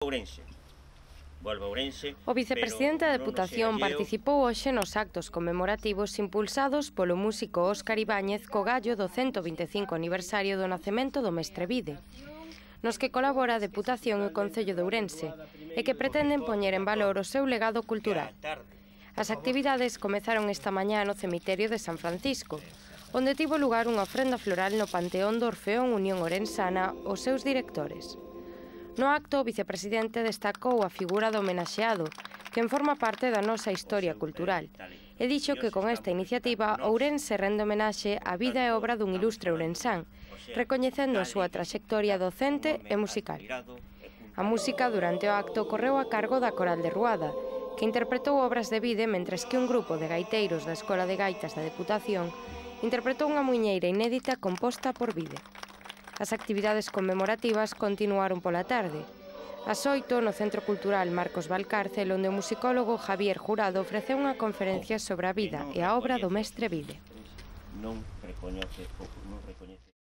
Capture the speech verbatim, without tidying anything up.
Ourense. Volvo a Ourense. O vicepresidente da Deputación participou hoxe nos actos conmemorativos impulsados polo músico Óscar Ibáñez co gallo do ciento vinte e cinco aniversario do nacemento do Mestre Vide, nos que colabora a Deputación e o Concello de Ourense, e que pretenden poñer en valor o seu legado cultural. As actividades comezaron esta mañá no cemiterio de San Francisco, onde tivo lugar unha ofrenda floral no Panteón do Orfeón Unión Orensana aos seus directores. No acto, o vicepresidente destacou a figura do homenaxeado, que forma parte da nosa historia cultural, e dixo que con esta iniciativa Ourense rende homenaxe á vida e obra dun ilustre ourensán, recoñecendo a súa traxectoria docente e musical. A música durante o acto correu a cargo da Coral de Ruada, que interpretou obras de Vide, mentres que un grupo de gaiteiros da Escola de Gaitas da Deputación interpretou unha muiñeira inédita composta por Vide. As actividades conmemorativas continuaron pola tarde. Ás oito, no Centro Cultural Marcos Valcárcel, onde o musicólogo Javier Jurado ofreceu unha conferencia sobre a vida e a obra do Mestre Vide. Non recoñece, non recoñece.